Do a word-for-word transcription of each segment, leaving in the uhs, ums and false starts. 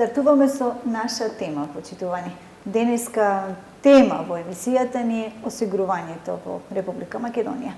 Стартуваме со наша тема, почитувани. Денеска тема во емисијата ни е осигурувањето во Република Македонија.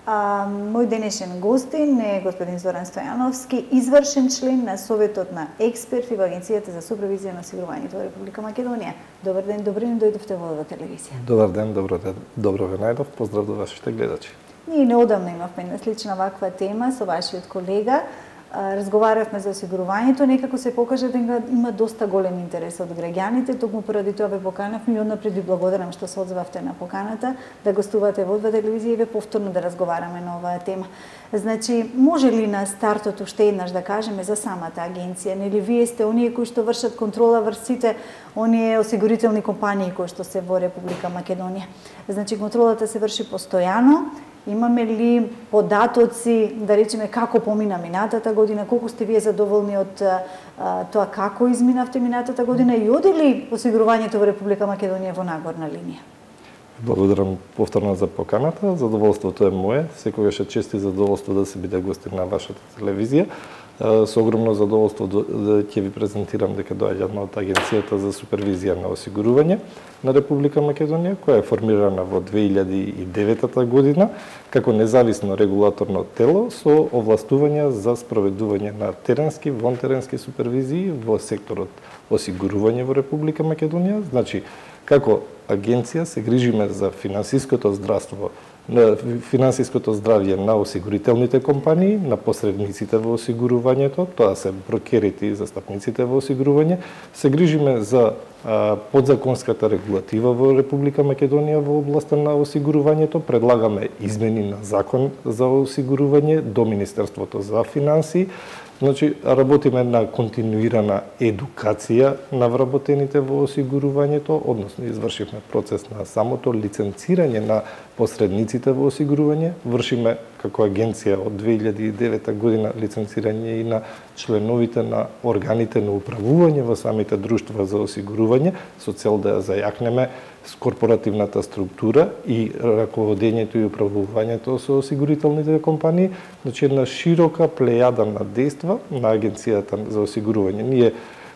А, мој денешен гостин е господин Зоран Стојановски, извршен член на Советот на експерти во Агенцијата за супервизија на осигурувањето во Република Македонија. Добар ден, добри ден, дојдовте во оваа телевизија. Добар ден, добро ден, добро ве најдов, поздрав до вашите гледачи. Ние неодамна имавме слична ваква тема со вашиот колега. Разговаравме за осигурувањето, некако се покажа дека има доста голем интерес од граѓаните, токму поради тоа ве поканавме и однапред ви благодарам што се одзвавте на поканата да гостувате во оваа телевизија и ве повторно да разговараме на оваа тема. Значи, може ли на стартот уште еднаш да кажеме за самата агенција? Нели вие сте оние кои што вршат контрола врз сите оние осигурителни компании кои што се во Република Македонија? Значи, контролата се врши постојано. Имаме ли податоци, да речеме, како помина минатата година, колку сте вие задоволни од а, тоа како изминавте минатата година и оди ли осигурувањето во Република Македонија во нагорна линија? Благодарам повторно за поканата, задоволството е мое, секогаш е чест и задоволство да се биде гостин на вашата телевизија. Со огромно задоволство да ќе ви презентирам дека доаѓам од Агенцијата за супервизија на осигурување на Република Македонија, која е формирана во две илјади и девета година како независно регулаторно тело со овластувања за спроведување на теренски, вонтеренски супервизии во секторот осигурување во Република Македонија. Значи, како агенција се грижиме за финансиското здравство, на финансиското здравје на осигурителните компании, на посредниците во осигурувањето, тоа се брокерите и застапниците во осигурување, се грижиме за а, подзаконската регулатива во Република Македонија во областа на осигурувањето, предлагаме измени на закон за осигурување до Министерството за финансии. Значи, работиме на континуирана едукација на вработените во осигурувањето, односно извршивме процес на самото лиценцирање на посредниците во осигурување, вршиме како агенција од две илјади и девета година лиценцирање и на членовите на органите на управување во самите друштва за осигурување, со цел да ја зајакнеме с корпоративната структура и раководењето и управувањето со осигурителните компании, значи една широка плејада на дејства на Агенцијата за осигурување. Ние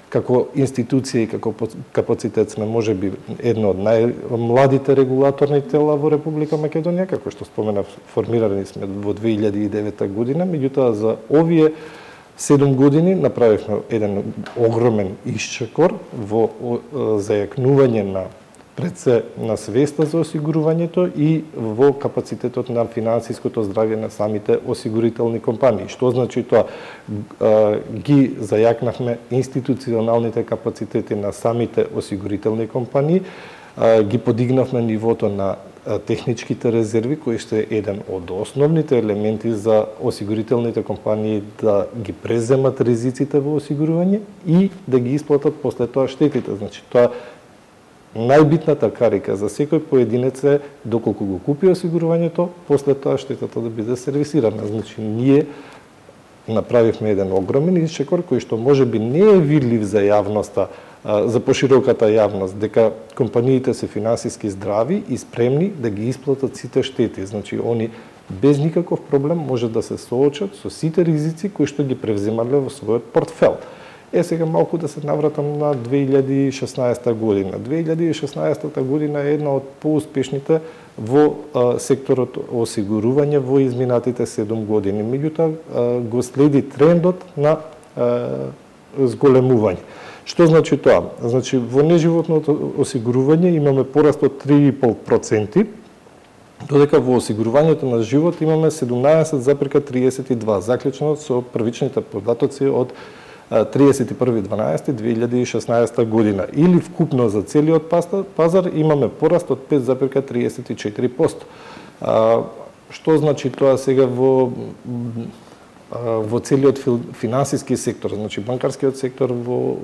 како институција и како капацитет сме можеби едно од најмладите регулаторни тела во Република Македонија, како што споменав, формирани сме во две илјади и девета година, меѓутоа за овие седум години направивме еден огромен исчекор во зајакнување на пред се на свеста за осигурувањето и во капацитетот на финансиското здравје на самите осигурителни компании. Што значи тоа? Ги зајакнавме институционалните капацитети на самите осигурителни компании, ги подигнавме нивото на техничките резерви, кои што е еден од основните елементи за осигурителните компании да ги преземат ризиците во осигурување и да ги исплатат после тоа штетите. Значи, тоа најбитната карика за секој поединец е доколку го купи осигурувањето, после тоа штетата да биде сервисирана. Значи, ние направивме еден огромен исчекор кој што можеби не е видлив за јавноста, за пошироката јавност, дека компаниите се финансиски здрави и спремни да ги исплатат сите штети. Значи, они без никаков проблем може да се соочат со сите ризици кои што ги превземале во својот портфел. Е, сега малку да се навратам на две илјади и шеснаесета година. две илјади и шеснаесета година е една од поуспешните во а, секторот осигурување во изминатите седум години. Меѓутоа го следи трендот на а, зголемување. Што значи тоа? Значи, во неживотното осигурување имаме пораст од три и пол проценти, додека во осигурувањето на живот имаме седумнаесет зарез триесет и два, заклучно со првичните податоци од триесет и први дванаесети две илјади и шеснаесета година. Или вкупно за целиот пазар имаме пораст од пет зарез триесет и четири проценти. Што значи тоа сега во во целиот финансиски сектор? Значи, банкарскиот сектор во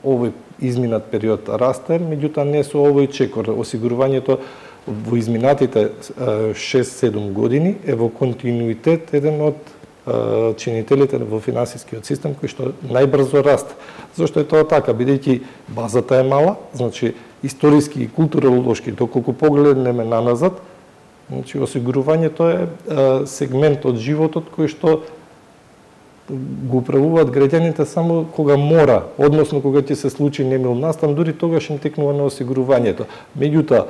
овој изминат период расте, меѓутоа не со овој чекор. Осигурувањето во изминатите шест-седум години е во континуитет еден од чинителите во финансискиот систем кој што најбрзо расте. Зошто е тоа така? Бидејќи базата е мала, значи историски и културолошки, доколку погледнеме наназад, значи осигурувањето е сегмент од животот кој што го управуваат граѓаните само кога мора, односно кога ќе се случи немил настан, дури тогаш им текнува на осигурувањето. Меѓутоа,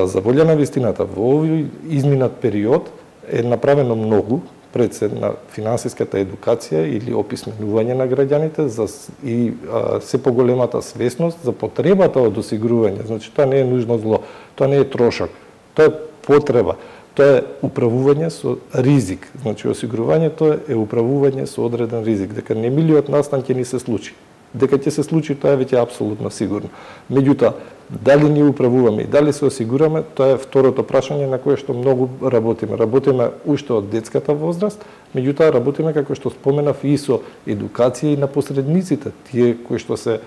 за волја на вистината, во овој изминат период е направено многу пред се на финансиската едукација или описменување на граѓаните за и а, се поголемата свесност за потребата од осигурување. Значи, тоа не е нужно зло, тоа не е трошок, тоа е потреба. Тоа е управување со ризик. Значи, осигурувањето е управување со одреден ризик, дека немилиот настан ќе ни се случи. Дека ќе се случи, тоа е веќе апсолутно сигурно. Меѓутоа, дали ни управуваме и дали се осигураме, тоа е второто прашање на кое што многу работиме. Работиме уште од детската возраст, меѓутоа работиме, како што споменав, и со едукација и на посредниците, тие кои што се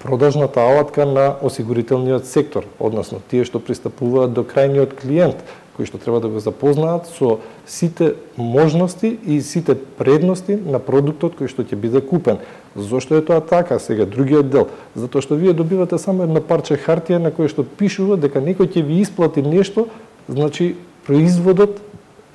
продажната алатка на осигурителниот сектор, односно тие што пристапуваат до крајниот клиент, кои што треба да го запознаат со сите можности и сите предности на продуктот кој што ќе биде купен. Зошто е тоа така? Сега другиот дел, затоа што вие добивате само едно парче хартија на кое што пишува дека некој ќе ви исплати нешто, значи производот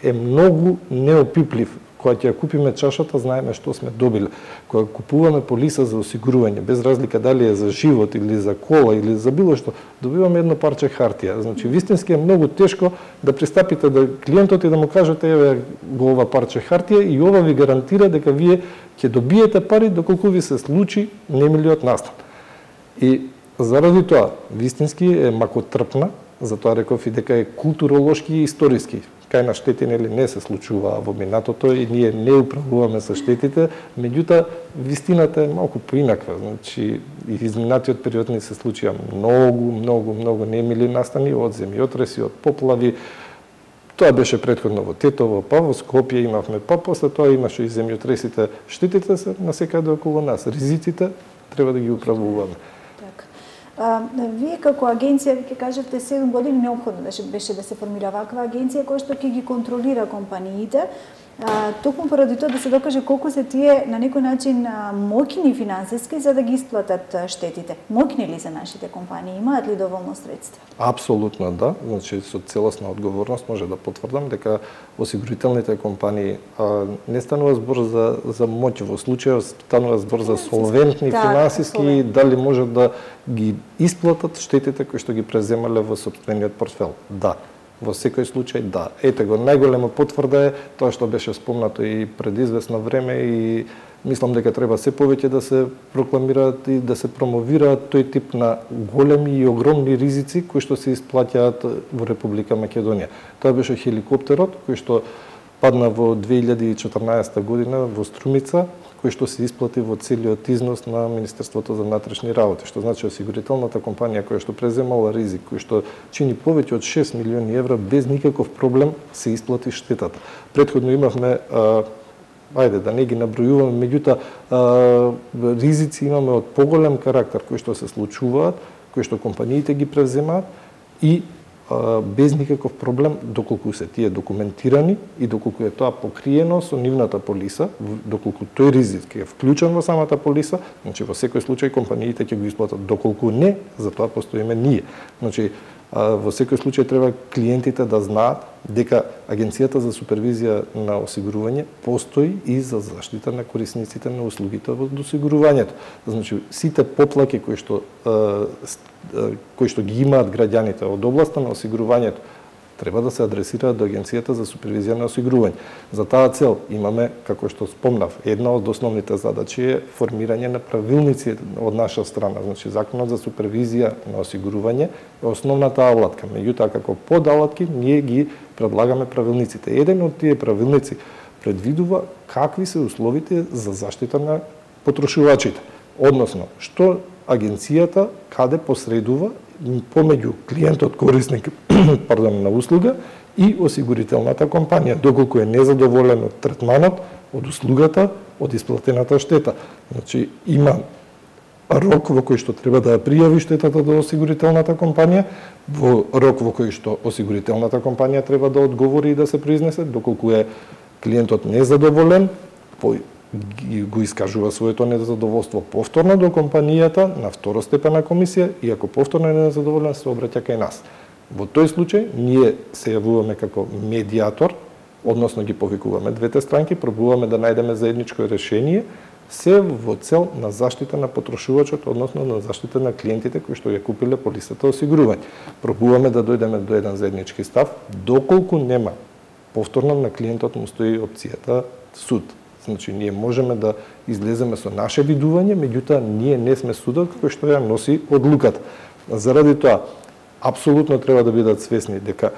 е многу неопиплив. Кога ќе купиме чашата, знаеме што сме добиле. Кога купуваме полиса за осигурување, без разлика дали е за живот или за кола или за било што, добиваме едно парче хартија. Значи, вистински е многу тешко да пристапите до клиентот и да му кажете еве го ова парче хартија и ова ви гарантира дека вие ќе добиете пари доколку ви се случи немилиот настан. И заради тоа, вистински е макотрпна, затоа реков и дека е културолошки и историски. Кај на штети нели не се случува во минатото и ние не управуваме со штетите, меѓутоа вистината е малку поинаква. Значи, и изминатиот период ни се случија многу, многу, многу немили настани од земјотреси, од поплави. Тоа беше претходно во Тетово, па во Скопје имавме, па после тоа имаше и земјотресите. Штетите се насекаде околу нас. Ризиците треба да ги управуваме. А, вие како агенција, ви ќе кажете, седум години неопходно беше да се формира ваква агенција која што ќе ги контролира компаниите, а, токму поради тоа да се докаже колку се тие на некој начин моќни финансиски за да ги исплатат штетите. Моќни ли се нашите компании? Имаат ли доволно средства? Апсолутно да. Значи, со целосна одговорност може да потврдам дека осигурителните компании а, не станува збор за, за моќ во случајот, станува збор за солвентни да, финансиски и дали можат да ги исплатат штетите кои што ги преземале во сопствениот портфел. Да. Во секој случај, да. Ете го, најголема потврда е тоа што беше спомнато и пред известно време и мислам дека треба се повеќе да се прокламираат и да се промовираат тој тип на големи и огромни ризици кои што се исплаќаат во Република Македонија. Тоа беше хеликоптерот кој што падна во две илјади и четрнаесетта година во Струмица, кој што се исплати во целиот износ на Министерството за внатрешни работи, што значи осигурителната компанија која што преземала ризик, кој што чини повеќе од шест милиони евра без никаков проблем се исплати штетата. Претходно имавме а, ајде да не ги набројуваме, меѓутоа ризици имаме од поголем карактер кои што се случуваат, кои што компаниите ги преземаат и а, без никаков проблем доколку се тие документирани и доколку е тоа покриено со нивната полиса, доколку тој ризик е вклучен во самата полиса, значи во секој случај компаниите ќе го исплатат, доколку не, за тоа постоиме ние. Значи во секој случај треба клиентите да знаат дека Агенцијата за супервизија на осигурување постои и за заштита на корисниците на услугите во осигурувањето. Значи сите поплаки кои што кои што ги имаат граѓаните од областа на осигурувањето треба да се адресираат до Агенцијата за супервизија на осигурување. За таа цел имаме, како што спомнав, една од основните задачи е формирање на правилници од наша страна. Значи, Законот за супервизија на осигурување е основната алатка. Меѓутоа, како подалатки, ние ги предлагаме правилниците. Еден од тие правилници предвидува какви се условите за заштита на потрошувачите. Односно, што агенцијата каде посредува помеѓу клиентот корисник пардон, на услуга и осигурителната компанија, доколку е незадоволен од третманот, од услугата, од исплатената штета. Значи, има рок во кој што треба да ја пријави штетата до осигурителната компанија, во рок во кој што осигурителната компанија треба да одговори и да се произнесе, доколку е клиентот незадоволен, го искажува своето незадоволство повторно до компанијата на второстепена комисија и ако повторно е незадоволен се обраќа кај нас. Во тој случај ние се јавуваме како медиатор односно ги повикуваме двете странки, пробуваме да најдеме заедничко решение, се во цел на заштита на потрошувачот, односно на заштита на клиентите кои што ја купиле полисата осигурување. Пробуваме да дојдеме до еден заеднички став, доколку нема повторно на клиентот му стои опцијата суд. Значи, ние можеме да излеземе со наше видување, меѓутоа ние не сме судот кој што ја носи одлуката. Заради тоа, апсолутно треба да бидат свесни дека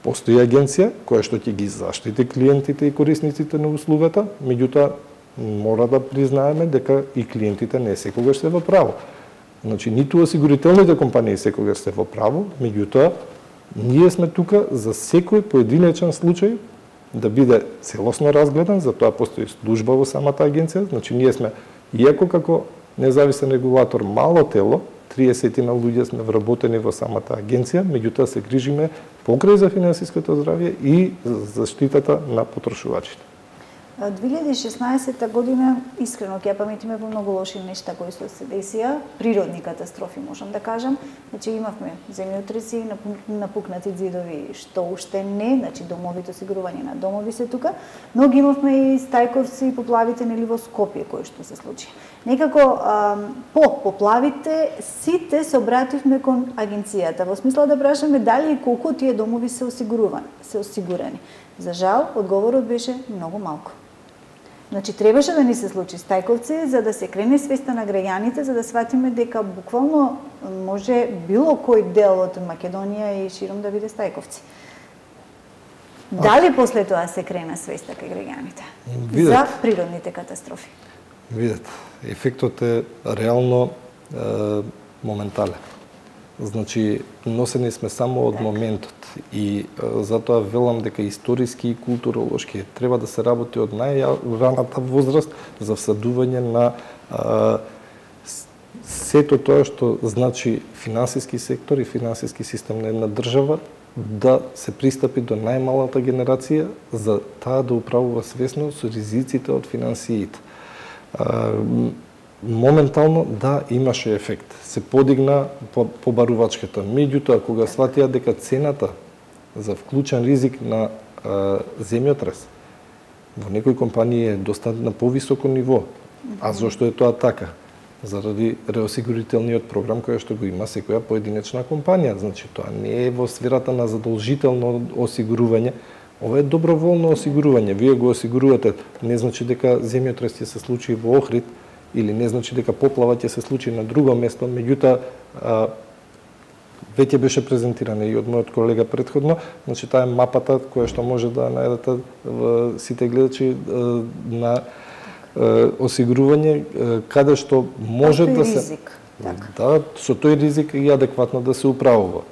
постои агенција која што ќе ги заштити клиентите и корисниците на услугата, меѓутоа мора да признаеме дека и клиентите не секогаш се во право. Значи, ниту осигурителните компании секогаш се во право, меѓутоа ние сме тука за секој поединечен случај да биде целосно разгледан, за тоа постои служба во самата агенција, значи ние сме, иако како независен регулатор мало тело, триесет на луѓе сме вработени во самата агенција, меѓутоа се грижиме покрај за финансиското здравје и за заштитата на потрошувачите. две илјади и шеснаесетта година, искрено ќе ја паметиме во многу лоши нешта кои што се десија, природни катастрофи можам да кажам. Значи имавме земјотреси, напукнати ѕидови, што уште не, значи домовите, осигурување на домови се тука, но ги имавме и стајковци и поплавите нели во Скопје кои што се случи. Некако а, по поплавите сите се обративме кон агенцијата во смисла да прашаме дали и колку тие домови се осигурувани, се осигурени. За жал, одговорот беше многу малку. Значи, требаше да ни се случи стајковци, за да се крене свеста на граѓаните, за да сватиме дека буквално може било кој дел од Македонија и широм да биде стајковци. Дали после тоа се крена свеста кај граѓаните за природните катастрофи? Видете, ефектот е реално е, моментален. Значи, носени сме само од моментот и е, затоа велам дека историски и културолошки треба да се работи од најраната возраст за всадување на е, сето тоа што значи финансиски сектор и финансиски систем на една држава, да се пристапи до најмалата генерација за таа да управува свесно со ризиците од финансиите. Моментално, да, имаше ефект. Се подигна побарувачката. Меѓутоа, кога сватија дека цената за вклучен ризик на а, земјотрес во некои компании е доста на повисоко ниво. А зошто е тоа така? Заради реосигурителниот програм кој што го има секоја поединечна компанија. Значи, тоа не е во сферата на задолжително осигурување, ова е доброволно осигурување. Вие го осигурувате, не значи дека земјотрес ќе се случи во Охрид, или не значи дека поплава ќе се случи на друго место, меѓутоа веќе беше презентирана и од мојот колега претходно, значи таа е мапата која што може да најдете сите гледачи на осигурување каде што може да се ризик, така. Да, со тој ризик и адекватно да се управува.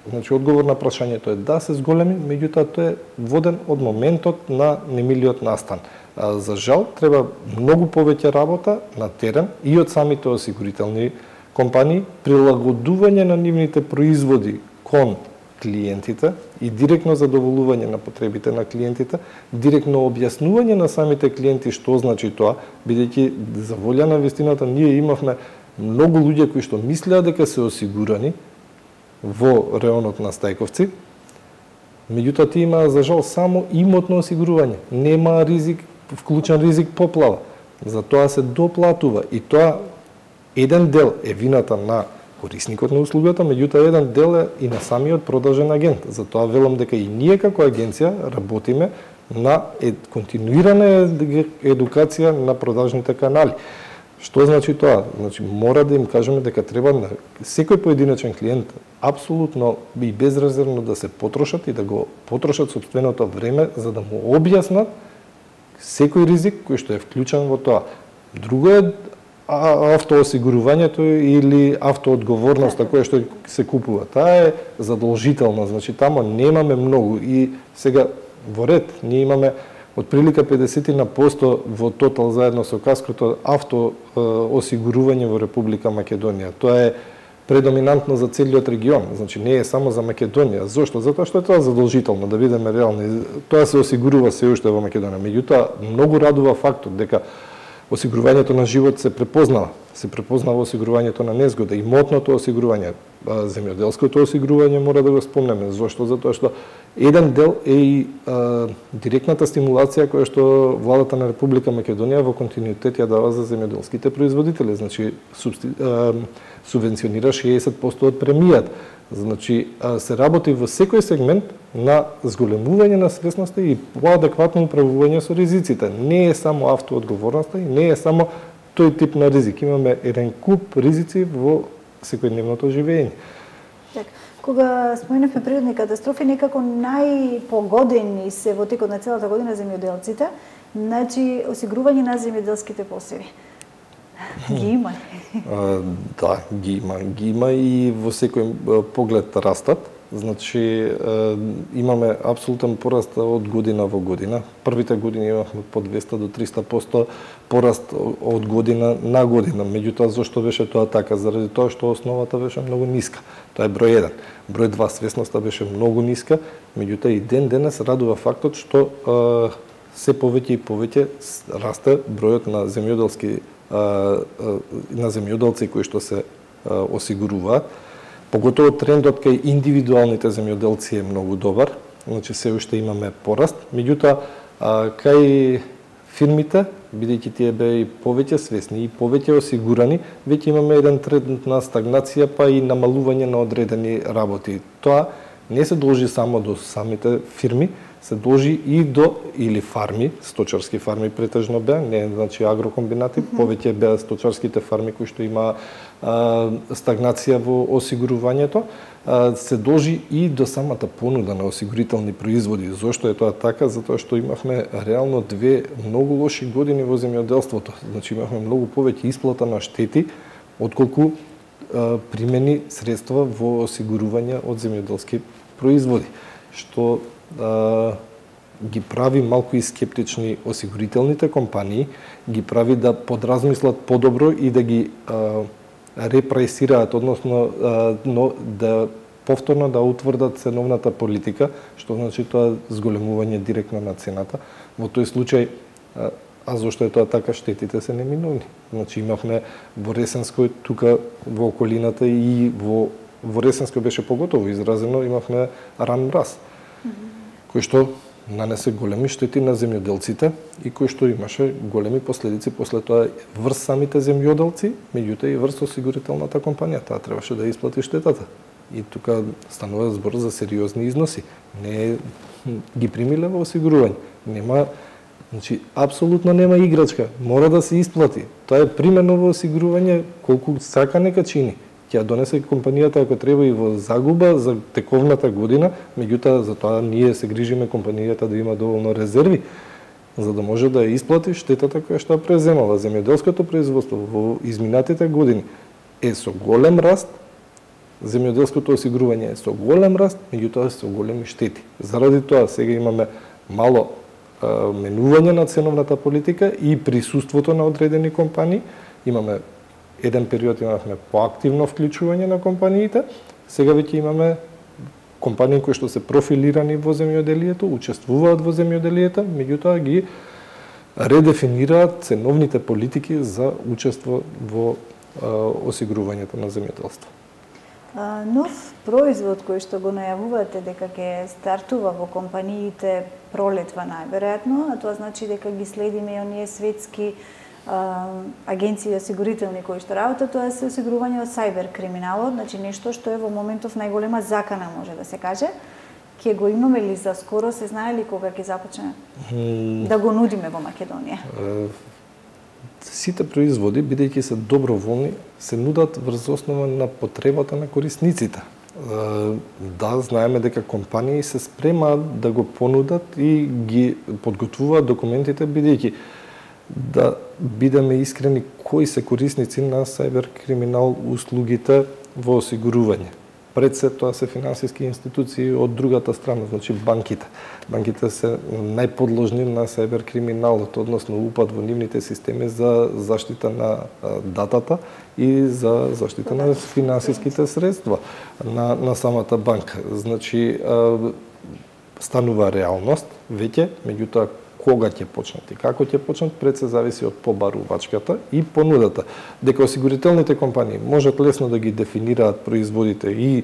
Значи одговор на прашањето е да се зголеми, меѓутоа тој е воден од моментот на немилиот настан. А, за жал, треба многу повеќе работа на терен и од самите осигурителни компании, прилагодување на нивните производи кон клиентите и директно задоволување на потребите на клиентите, директно објаснување на самите клиенти што значи тоа, бидејќи за волја на вистината ние имавме многу луѓе кои што мислеа дека се осигурани во реонот на Стајковци, меѓутоа тие имаа за жал само имотно осигурување, нема ризик, вклучен ризик поплава. За тоа се доплатува и тоа еден дел е вината на корисникот на услугата, меѓутоа еден дел е и на самиот продажен агент. Затоа велам дека и ние како агенција работиме на континуирана едукација на продажните канали. Што значи тоа? Значи мора да им кажеме дека треба на секој поединечен клиент апсолутно и безрезервно да се потрошат и да го потрошат сопственото време за да му објаснат секој ризик кој што е вклучен во тоа. Друго е автоосигурувањето или автоодговорноста која што се купува. Таа е задолжителна, значи тамо немаме многу и сега во ред ние имаме отприлика педесет на посто во тотал заедно со каското автоосигурување во Република Македонија. Тоа е предоминантно за целиот регион, значи не е само за Македонија. Зошто? Затоа што е тоа задолжително, да бидеме реални. Тоа се осигурува се уште во Македонија. Меѓутоа, многу радува фактот дека осигурувањето на живот се препознава. Се препознава осигурувањето на незгода, имотното осигурување. земјоделското осигурување мора да го спомнеме. Зошто? Затоа што еден дел е и а, директната стимулација која што владата на Република Македонија во континуитет ја дава за земјоделските производители. Значи, субсти... а, субвенционира шеесет проценти од премијата. Значи, се работи во секој сегмент на зголемување на свесноста и поадекватно управување со ризиците. Не е само автоодговорноста и не е само тој тип на ризик. Имаме еден куп ризици во секојдневното живење. Так, кога споменавме природни катастрофи, некако најпогодени се во текот на целата година земјоделците, значи осигурување на земјоделските посеви. Ги има? А, да, ги има. Ги има и во секој поглед растат. Значи, имаме апсолутен пораст од година во година. Првите години имавме по двеста до триста проценти пораст од година на година. Меѓутоа, зашто беше тоа така? Заради тоа што основата беше многу ниска. Тоа е број еден. Број два, свесноста беше многу ниска, меѓутоа и ден денес радува фактот што се повеќе и повеќе расте бројот на земјоделски на земјоделци кои што се осигуруваат. Поготово трендот кај индивидуалните земјоделци е многу добар, значи се уште имаме пораст, меѓутоа кај фирмите, бидејќи тие беа и повеќе свесни и повеќе осигурани, веќе имаме еден тренд на стагнација па и намалување на одредени работи. Тоа не се должи само до самите фирми, се должи и до или фарми, сточарски фарми претежно беа, не значи агрокомбинати, mm-hmm. повеќе беа сточарските фарми кои што има а, стагнација во осигурувањето, а, се должи и до самата понуда на осигурителни производи. Зошто е тоа така? Затоа што имавме реално две многу лоши години во земјоделството. Значи имавме многу повеќе исплата на штети отколку а, примени средства во осигурување од земјоделски производи, што да ги прави малку и скептични осигурителните компании, ги прави да подразмислат подобро и да ги а, репресираат, односно а, но, да повторно да утврдат ценовната политика, што значи тоа зголемување директно на цената. Во тој случај, а, а зошто е тоа така, штетите се неминовни. Значи имавме во Ресенској, тука во околината и во, во Ресенској беше поготово изразено, имавме ран мраз. Mm-hmm. кој што нанесе големи штети на земјоделците и кој што имаше големи последици после тоа врз самите земјоделци, меѓутоа и врз осигурителната компанија. Таа требаше да исплати штетата. И тука станува збор за сериозни износи. Не ги примиле во осигурување. Нема, значи апсолутно нема играчка. Мора да се исплати. Тоа е примено во осигурување колку сака нека чини. Ќе донесе компанијата ако треба и во загуба за тековната година, меѓутоа за тоа ние се грижиме компанијата да има доволно резерви за да може да ја исплати штетата која што преземала. Земјоделското производство во изминатите години е со голем раст, земјоделското осигурување е со голем раст, меѓутоа со големи штети. Заради тоа сега имаме мало а, менување на ценовната политика и присуството на одредени компании. Имаме еден период имавме поактивно вклучување на компаниите, сега веќе имаме компании кои што се профилирани во земјоделието, учествуваат во земјоделието, меѓутоа ги редефинираат ценовните политики за учество во а, осигурувањето на земјоделство. А, нов производ кој што го најавувате дека ќе стартува во компаниите пролетва најверојатно, а тоа значи дека ги следиме и оние светски агенции осигурителни кои што работат, тоа е осигурување од сајбер криминалот, значи нешто што е во моментов најголема закана, може да се каже. Ќе го имаме ли за скоро, се знае ли кога ќе започне mm. да го нудиме во Македонија? Uh, сите производи, бидејќи се доброволни, се нудат врз основа на потребата на корисниците. Uh, да, знаеме дека компании се спремаат да го понудат и ги подготвуваат документите, бидејќи да бидеме искрени, кои се корисници на сајбер криминал услугите во осигурување. Пред се тоа се финансиски институции од другата страна, значи банките. Банките се најподложни на сајбер криминалот, односно упад во нивните системи за заштита на датата и за заштита на финансиските средства на, на самата банка. Значи, станува реалност веќе, меѓутоа кога ќе почнат и како ќе почнат, пред се зависи од побарувачката и понудата. Дека осигурителните компании можат лесно да ги дефинираат производите и е,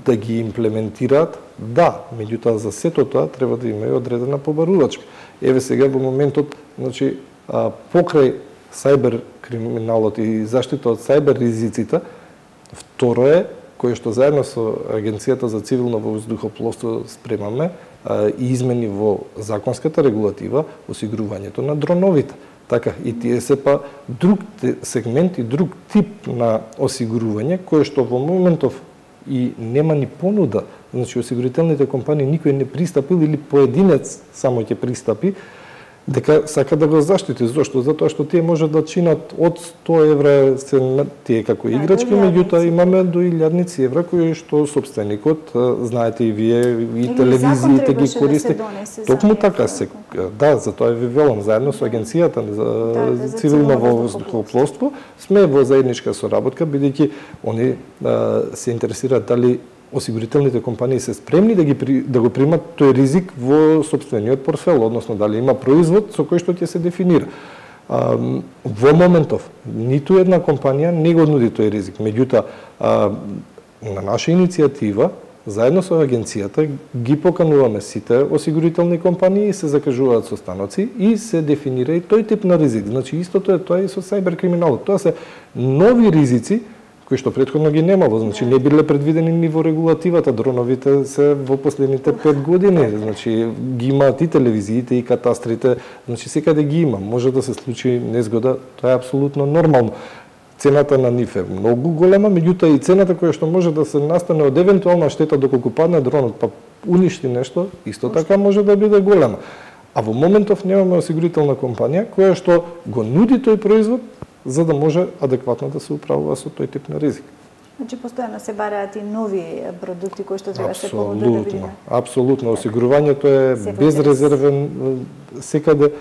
да ги имплементираат, да, меѓутоа за сето тоа треба да има и одредена побарувачка. Еве сега во моментот, значи, а, покрај сајбер криминалот и заштита од сајбер ризиците, второ е, кој што заедно со Агенцијата за цивилно воздухопловство спремаме а, и измени во законската регулатива осигурувањето на дроновите. Така, и тие се па друг сегмент и друг тип на осигурување, кое што во моментов и нема ни понуда. Значи, осигурителните компании никој не пристапил или поединец само ќе пристапи, дека сака да го заштити. Зошто? Затоа што тие може да чинат од сто евра се тие како играчки, меѓутоа имаме до илјадници евра кои што собственикот, знаете и вие, и телевизиите ги користи. Да Токму така се, да, затоа ви велам, заедно со Агенцијата за да, да, цивилно воздухопловство сме во заедничка соработка, бидејќи они а, се интересираат дали осигурителните компании се спремни да ги да го примат тој ризик во сопствениот портфел, односно дали има производ со кој што ќе се дефинира. А, во моментов ниту една компанија не го нуди тој ризик. Меѓутоа, на наша иницијатива, заедно со агенцијата, ги покануваме сите осигурителни компании, се закажуваат состаноци и се дефинира и тој тип на ризик. Значи истото е тоа и со сајбер криминалот. Тоа се нови ризици кои што претходно ги немало, значи не биле предвидени ни во регулативата, дроновите се во последните пет години, значи ги имаат и телевизиите и катастрите, значи секаде ги има, може да се случи незгода, тоа е апсолутно нормално. Цената на нив е многу голема, меѓутоа и цената која што може да се настане од евентуална штета доколку падне дронот па уништи нешто, исто така може да биде голема. А во моментов немаме осигурителна компанија која што го нуди тој производ за да може адекватно да се управува со тој тип на ризик. Значи постојано се бараат и нови продукти кои што треба се поводат да видиме. Апсолутно, осигурувањето е безрезервен секаде,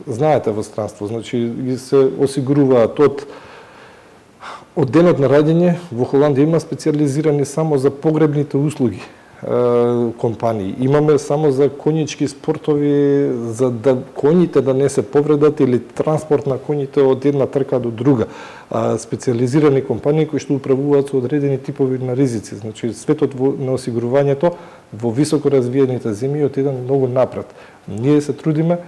знаете, во странство, значи се осигуруваат од од денот на раѓање. Во Холандија има специјализирани само за погребните услуги компании. Имаме само за конјички спортови, за да коњите да не се повредат или транспорт на коњите од една трка до друга. А, специализирани компании кои што управуваат со одредени типови на ризици. Значи светот во, на осигурувањето во високо развиените земји од еден многу напред. Ние се трудиме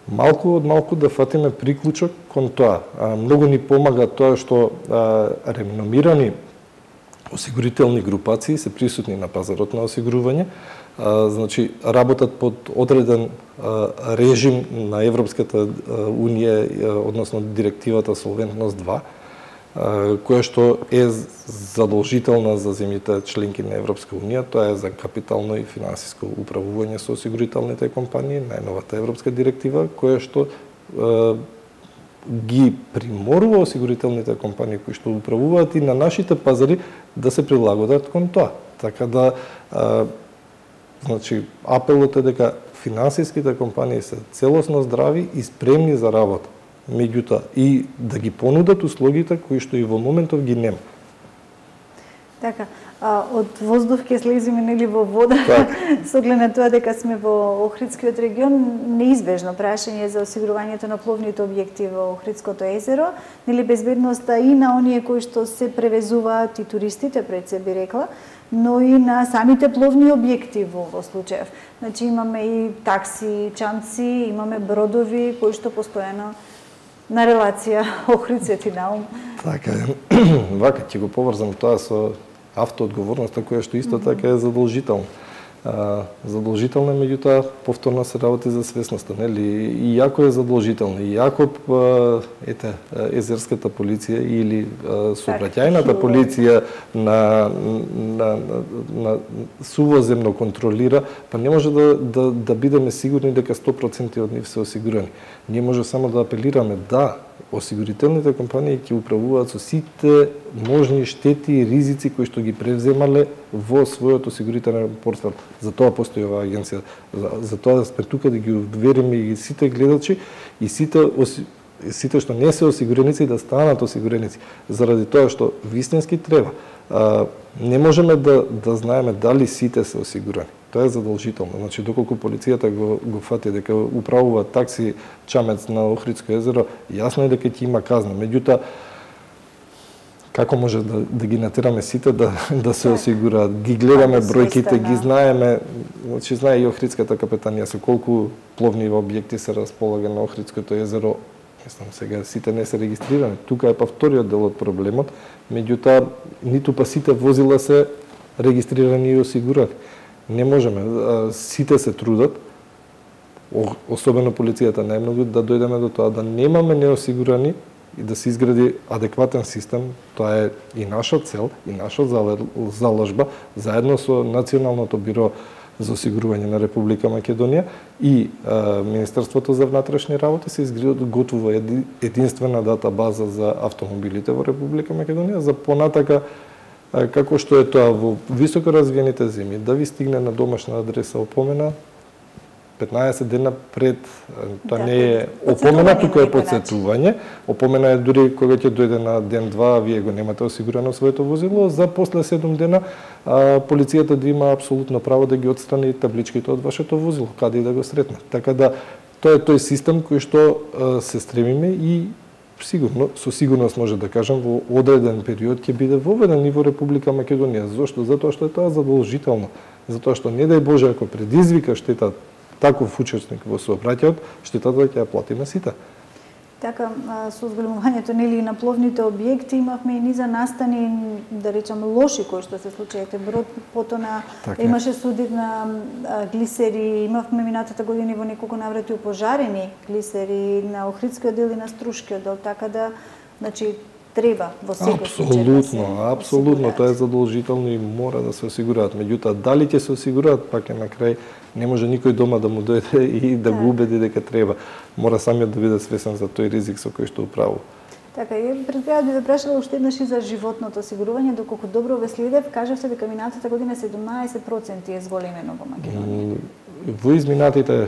малку од малку да фатиме приклучок кон тоа. А, многу ни помага тоа што а, реномирани осигурителни групации се присутни на пазарот на осигурување, а, значи работат под одреден а, режим на Европската унија, а, односно директивата Солвентност два, а, која што е задолжителна за земјите членки на Европска унија, тоа е за капитално и финансиско управување со осигурителните компании, најновата европска директива, која што а, ги приморува осигурителните компании кои што управуваат и на нашите пазари да се прилагодат кон тоа. Така да, а, значи, апелот е дека финансиските компании се целосно здрави и спремни за работа. Меѓутоа, и да ги понудат услугите кои што и во моментов ги нема. Така, а, од воздух ќе слезиме нели во вода, так. Со оглед на тоа дека сме во Охридскиот регион, неизбежно прашање за осигурувањето на пловните објекти во Охридското езеро, нели безбедноста и на оние кои што се превезуваат и туристите, пред се би рекла, но и на самите пловни објекти во, во случаев. Значи имаме и такси, чамци, имаме бродови кои што постојано на релација Охрид-Свети Наум. Така е. Вака ќе го поврзам тоа со автоодговорноста која што исто така е задолжителна. А, задолжителна, меѓутоа повторно се работи за свесноста, нели? И јако е задолжителна, и јако ете езерската полиција или сообраќајната полиција на на, на, на сувоземно контролира, па не може да да да бидеме сигурни дека сто проценти од нив се осигурени. Ние може само да апелираме да осигурителните компании ќе управуваат со сите можни штети и ризици кои што ги превземале во својот осигурителен портфел. За тоа постои оваа агенција. За, за тоа сме тука да ги увериме и сите гледачи и сите оси, сите што не се осигуреници да станат осигуреници. Заради тоа што вистински треба. А, не можеме да да знаеме дали сите се осигурени. Тоа е задолжително. Значи, доколку полицијата го, го фати дека управува такси чамец на Охридско езеро, јасно е дека ќе има казна. Меѓутоа, како може да, да ги натераме сите да, да се осигураат? Ги гледаме бројките, ги знаеме, значи знае и Охридската капетанија со колку пловни објекти се располага на Охридското езеро. Мислам, сега сите не се регистрирани. Тука е па вториот дел од проблемот, меѓутоа ниту па сите возила се регистрирани и осигурани. Не можеме, сите се трудат, особено полицијата најмногу, да дојдеме до тоа да немаме неосигурани и да се изгради адекватен систем. Тоа е и наша цел, и наша заложба, заедно со Националното биро за осигурување на Република Македонија и а, Министерството за внатрешни работи се изготвува единствена датабаза за автомобилите во Република Македонија за понатака а, како што е тоа во високо развиените земји, да ви стигне на домашна адреса опомена петнаесет дена пред, тоа да, не е опомена, тука е подсетување. Опомена е дури кога ќе дојде на ден два, а вие го немате осигурано своето возило, за после седум дена а, полицијата да има апсолутно право да ги отстрани табличките од вашето возило, каде и да го сретне. Така да, тоа е тој систем кој што а, се стремиме и сигурно, со сигурност може да кажам, во одреден период ќе биде воведен и во Република Македонија. Зошто? Затоа што е тоа задолжително. Затоа што не дај Боже ако предизвика штета таков учесник во сообраќајот, штетата ќе ја платиме сите. Така, со зголемувањето нели на пловните објекти имавме и низа настани, да речам, лоши кои што се случајте. Брод потона така, имаше судит на глисери, имавме минатата година во неколку наврати упожарени глисери на Охридскиот дел и на Струшкиот дел, така да, значи, треба во секој случај. Апсолутно, апсолутно, тоа е задолжително и мора да се осигураат. Меѓутоа, дали ќе се осигураат, пак е на крај, не може никој дома да му дојде и да го убеди дека треба. Мора самиот да биде свесен за тој ризик со кој што управува. Така, и пред крајот би ве прашала уште еднаш и за животното осигурување, доколку добро ве следев, кажавте дека минатата година седумнаесет проценти е зголемено во Македонија. Во изминатите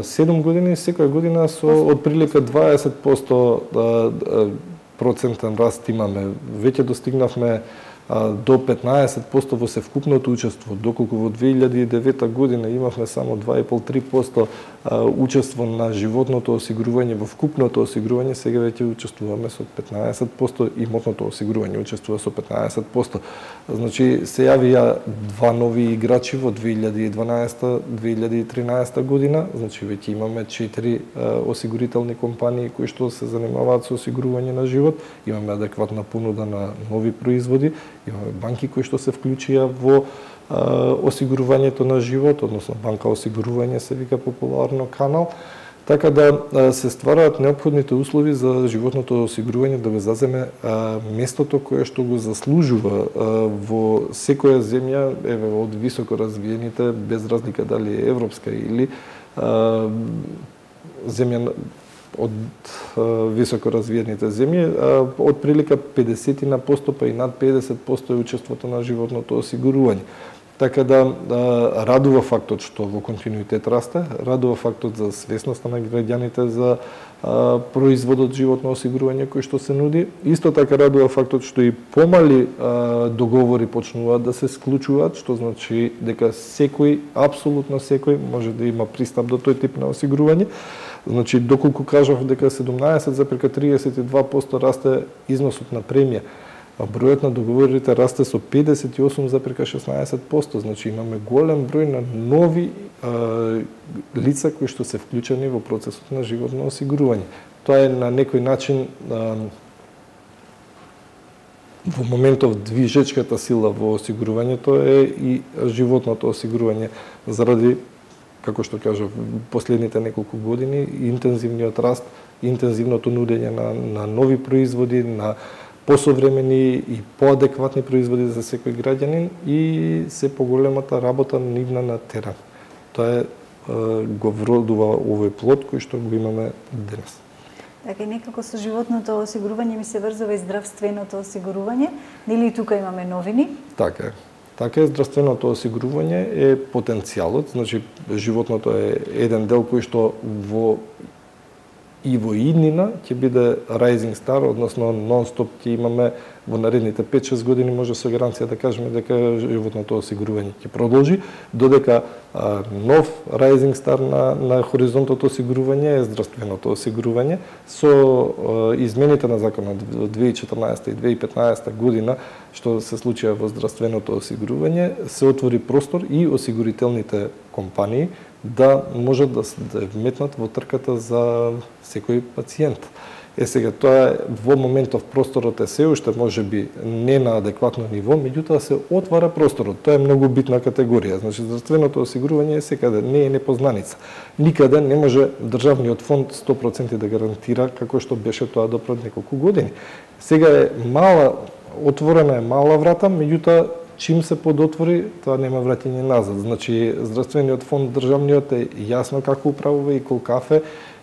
седум години, секоја година со отприлика дваесет проценти процентен раст имаме. Веќе достигнавме а, до петнаесет проценти во севкупното учество, доколку во две илјади и девета година имавме само два и пол до три проценти а, учество на животното осигурување во вкупното осигурување, сега веќе учествуваме со петнаесет проценти, имотното осигурување учествува со петнаесет проценти. Значи, се јавија два нови играчи во две илјади и дванаесета - две илјади и тринаесета година, значи веќе имаме четири а, осигурителни компании кои што се занимаваат со осигурување на живот, имаме адекватна понуда на нови производи, имаме банки кои што се вклучија во а, осигурувањето на живот, односно банка осигурување се вика популарно канал, така да а, се ствараат неопходните услови за животното осигурување да го заземе а, местото кое што го заслужува а, во секоја земја, еве од високо развиените, без разлика дали е европска или а, земја од а, високо развиените земји, а, од прилика педесет на посто па и над педесет посто е учеството на животното осигурување. Така да а, радува фактот што во континуитет расте, радува фактот за свесноста на граѓаните за а, производот животно осигурување кој што се нуди. Исто така радува фактот што и помали а, договори почнуваат да се склучуваат, што значи дека секој, апсолутно секој може да има пристап до тој тип на осигурување. Значи, доколку кажав дека седумнаесет запирка триесет и два проценти расте износот на премија, а бројот на договорите расте со педесет и осум запирка шеснаесет проценти. Значи, имаме голем број на нови а, лица кои што се вклучени во процесот на животно осигурување. Тоа е на некој начин а, во моментов движечката сила во осигурувањето е и животното осигурување заради, како што кажав, последните неколку години, интензивниот раст, интензивното нудење на, на нови производи, на посовремени и поадекватни производи за секој граѓанин и се поголемата работа нивна на терен. Тоа е, го вродува овој плод кој што го имаме денес. Така и некако со животното осигурување ми се врзува и здравственото осигурување. Нели тука имаме новини? Така е. Така е, здравственото осигурување е потенцијалот, значи животното е еден дел кој што во и во иднина ќе биде rising star, односно нон-стоп ќе имаме во наредните пет-шест години, може со гаранција да кажеме дека животното осигурување ќе продолжи, додека а, нов rising star на, на хоризонтот осигурување е здравственото осигурување. Со а, измените на законот во две илјади и четрнаесета и две илјади и петнаесета година, што се случија во здравственото осигурување, се отвори простор и осигурителните компании да можат да се вметнат во трката за секој пациент. Е сега, тоа во моментов просторот е се уште можеби не на адекватно ниво, меѓутоа се отвара просторот. Тоа е многу битна категорија. Значи, здравственото осигурување е секаде, не е непознаница. Никаде не може државниот фонд сто проценти да гарантира како што беше тоа до пред неколку години. Сега е мала, отворена е мала врата, меѓутоа чим се подотвори, тоа нема враќање назад. Значи, здравствениот фонд државниот е јасно како управува и колкафе,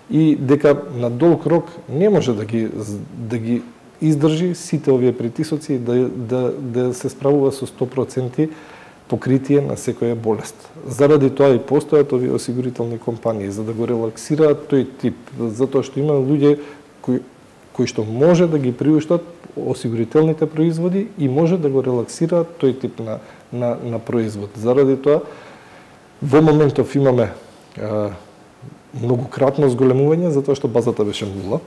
и дека на долг рок не може да ги да ги издржи сите овие притисоци и да да да се справува со сто проценти покритие на секоја болест. Заради тоа и постојат овие осигурителни компании за да го релаксираат тој тип, затоа што има луѓе кои кои што може да ги приуштат осигурителните производи и може да го релаксираат тој тип на на на производ. Заради тоа во моментов имаме а, многократно зголемување, затоа што базата беше нула.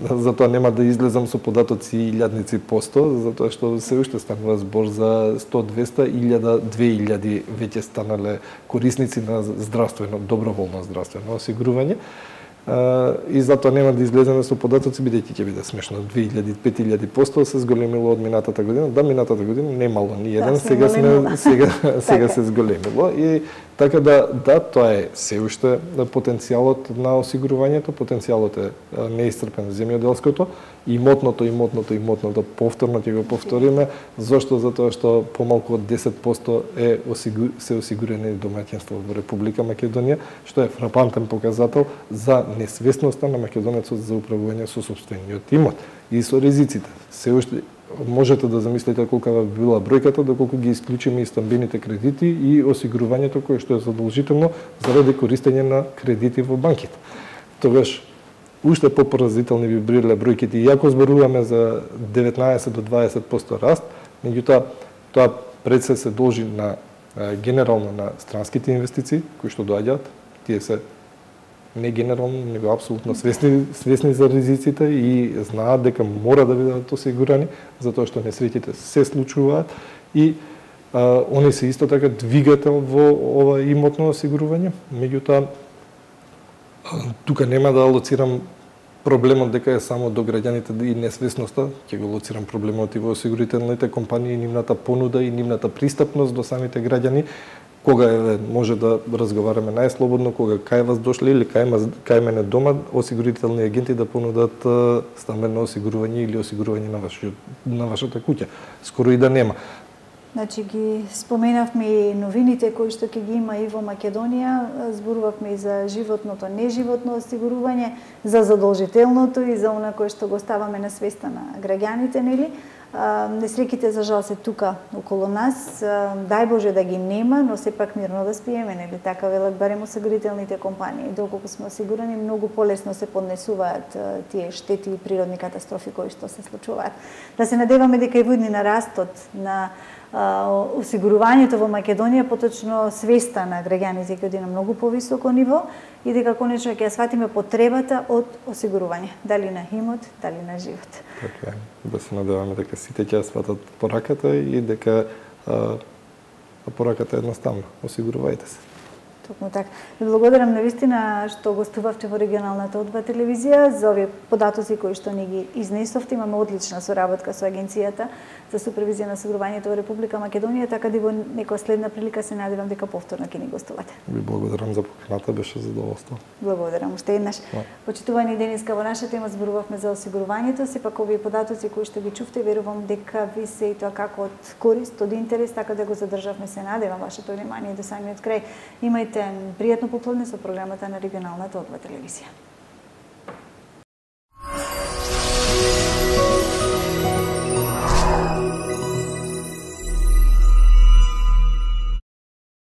Затоа нема да излезам со податоци илјадници посто, затоа што се уште станува збор за сто, двеста, илјада, две илјади веќе станале корисници на здравствено, доброволно здравствено осигурување. И затоа нема да излеземе со податоци, бидејќи ќе биде смешно. две илјади, пет илјади посто се зголемило од минатата година. Да, минатата година немало ни еден, да, сега сме сега сега се зголемило и така да да тоа е се уште потенцијалот на осигурувањето, потенцијалот е неисцрпен земјоделското, имотното, имотното, имотното, повторно ќе го повториме. Зошто? Затоа што помалку од десет посто е осигур... се осигурени домаќинства во Република Македонија, што е фрапантен показател за несвесноста на македонецот за управување со сопствениот имот и со ризиците. Се уште можете да замислите колка би била бројката доколку ги исклучиме и стамбените кредити и осигурувањето кое што е задолжително заради користење на кредити во банките. Тогаш уште попоразителни би биле бројките, иако зборуваме за деветнаесет до дваесет посто раст, меѓутоа тоа пред се се должи на генерално на странските инвестиции кои што доаѓаат, тие се не генерално, него апсолутно свесни, свесни за ризиците и знаат дека мора да бидат осигурани, затоа што несреќите се случуваат и а, они се исто така двигател во ова имотно осигурување. Меѓутоа, тука нема да алоцирам проблемот дека е само до граѓаните и несвесноста, ќе го алоцирам проблемот и во осигурителните компании, нивната понуда и нивната пристапност до самите граѓани, кога е, може да разговараме најслободно, кога кај вас дошле или кај, кај мене дома, осигурителни агенти да понудат стамбено осигурување или осигурување на, ваши, на вашата куќа. Скоро и да нема. Значи ги споменавме и новините кои што ќе ги има и во Македонија, зборувавме и за животното, неживотно осигурување, за задолжителното и за она кое што го ставаме на свеста на граѓаните, нели? Несреќите за жал се тука околу нас, дај Боже да ги нема, но сепак мирно да спиеме, нели така велат барем осигурителните компании. Доколку сме осигурани, многу полесно се поднесуваат тие штети и природни катастрофи кои што се случуваат. Да се надеваме дека и во иднина растот на осигурувањето во Македонија, поточно свеста на граѓаните ќе оди на многу повисоко ниво и дека конечно ќе ја сватиме потребата од осигурување, дали на имот, дали на живот. Така е. Да се надеваме дека сите ќе ја сватат пораката и дека а, пораката е едноставна. Осигурувајте се. Токму така. Ви благодарам навистина што гостувавте во регионалната О два телевизија за овие податоци кои што ни ги изнесовте. Имаме одлична соработка со Агенцијата за супервизија на осигурувањето во Република Македонија, така да во некоја следна прилика се надевам дека повторно ќе ни гостувате. Ви благодарам за поканата, беше задоволство. Благодарам уште еднаш. No. Почитувани денеска во нашата тема зборувавме за осигурувањето, сепак овие податоци кои што ги чувте, верувам дека ви се и тоа како од корист, од интерес, така да го задржавме, се надевам вашето внимание до самиот крај. Имајте пријатно попладне со програмата на регионалната О два телевизија.